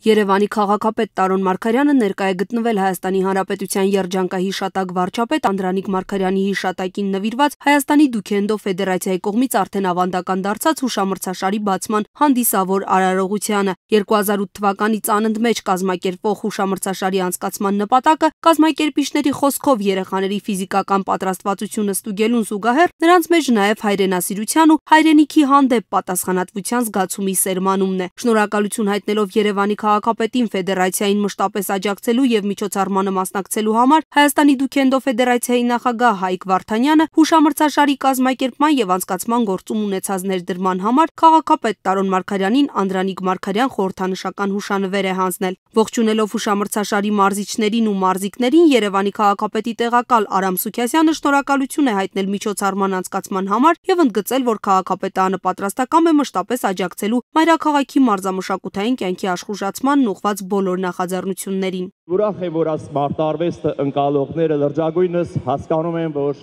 Երևանի քաղաքապետ Տարոն Մարգարյանը ներկա է գտնվել Հայաստանի Հանրապետության երջանկահիշատակ վարչապետ Անդրանիկ Մարգարյանի հիշատակին նվիրված Հայաստանի Դուքենդո Ֆեդերացիայի կողմից արդեն ավանդական դարձած հուշամրցաշարի բացման հանդիսավոր արարողությանը։ 2008 թվականից անընդմեջ կազմակերպվող հուշամրցաշարի անցկացման նպատակը կազմակերպիչների խոսքով երեխաների ֆիզիկական պատրաստվածությունը ստուգելուն զուգահեռ նրանց մեջ նաև հայրենասիրության ու հայրենիքի հանդեպ պատասխանատվության զգացումի սերմանումն է։ Շնորհակալություն հայտնելով Երևանի քաղաքապետին ֆեդերացիային մշտապես աջակցելու եւ միջոցառմանը մասնակցելու համար Հայաստանի Դուքենդո Ֆեդերացիայի նախագահ Հայկ Վարդանյանը հուշամրցաշարի կազմակերպման եւ անցկացման գործում ունեցած ներդրման համար քաղաքապետ Տարոն Մարգարյանին Անդրանիկ Մարգարյան խորհրդանշական հուշանվեր է հանձնել։ Ողջունելով հուշամրցաշարի մարզիչներին ու մարզիկներին Երևանի քաղաքապետի տեղակալ Արամ Սուքիասյանը շնորհակալություն է հայտնել միջոցառման անցկացման համար եւ ընդգծել, որ քաղաքապետարանը պատրաստական է մշտապես աջակցելու մայրաքաղաքի մարզամշակութային կյանքի աշխուժացմանն ուղղված բոլոր նախաձեռնություններին։ Ուրախ եմ, որ մարտարվեստը ընկալողները լրջագույնս հասկանում են, որ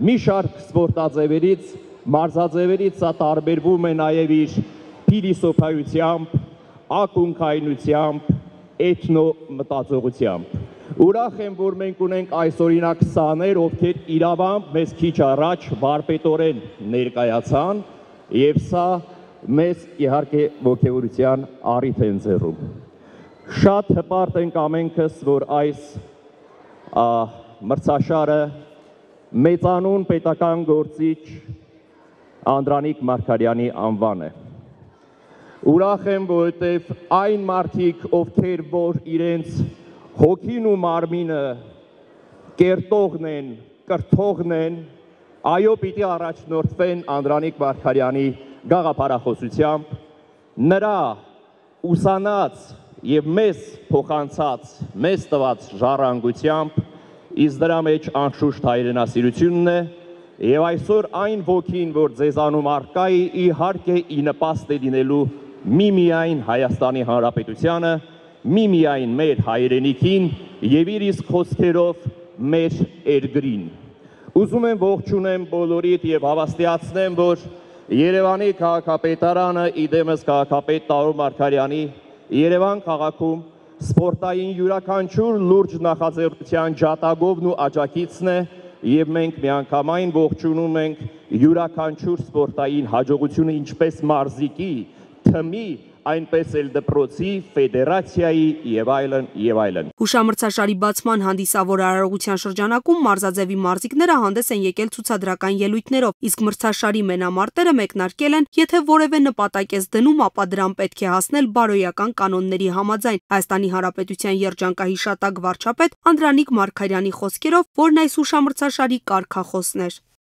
մի շարք սպորտաձևերից, մարզաձևերից սա տարբերվում է նաև իր փիլիսոփայությամբ, ակունքայնությամբ, էթնոմտածողությամբ։ Ուրախ եմ, որ մենք ունենք այսօրինակ սաներ, ովքեր իրավամբ մեզ քիչ առաջ վարպետորեն ներկայացան, եւ սա մեզ իհարկե ոգևորության առիթ են ձեռում։ Շատ հպարտ ենք ամենքս, որ այս մրցաշարը մեծանուն պետական գործիչ Անդրանիկ Մարգարյանի անվան է։ Ուրախ եմ, որովհետև այն մարդիկ, ովքեր որ իրենց հոգին ու մարմինը կերտողն են, կրթողն են, այո, պիտի առաջնորդվեն Անդրանիկ Մարգարյանի գաղափարախոսությամբ, նրա ուսանած եւ մեզ փոխանցած, մեզ տված ժառանգությամբ, իսկ դրա մեջ անշուշտ հայրենասիրությունն է, եւ այսօր այն ոգին, որ ձեզանում առկա է, իհարկե ի նպաստ է լինելու միմիայն Հայաստանի Հանրապետությանը, միմիայն մեր հայրենիքին եւ իր իսկ խոսքերով մեր երկրին։ Ուզում եմ ողջունեմ բոլորիդ եւ հավաստիացնեմ, որ Երևանի քաղաքապետարանը իդեմս քաղաքապետ Տարոն Մարգարյանի Երևան քաղաքում սպորտային յուրաքանչյուր լուրջ նախաձեռնության ջատագովն ու աջակիցն է եւ մենք միանգամայն ողջունում ենք յուրաքանչյուր սպորտային հաջողությունը ինչպես մարզիկի, թմի, այնպես էլ դպրոցի, ֆեդերացիայի եւ այլն եւ այլն։ Հուշամրցաշարի բացման հանդիսավոր արարողության շրջանակում մարզաձևի մարզիկները հանդես են եկել ցուցադրական ելույթներով, իսկ մրցաշարի մենամարտերը մեկնարկել են, եթե որևէ նպատակ ես դնում, ապա դրան պետք է հասնել բարոյական կանոնների համաձայն։ Հայաստանի Հանրապետության երջանկահիշատակ վարչապետ Անդրանիկ Մարգարյանի խոսքերով, որն այս հուշամրցաշարի կարգախոսն էր։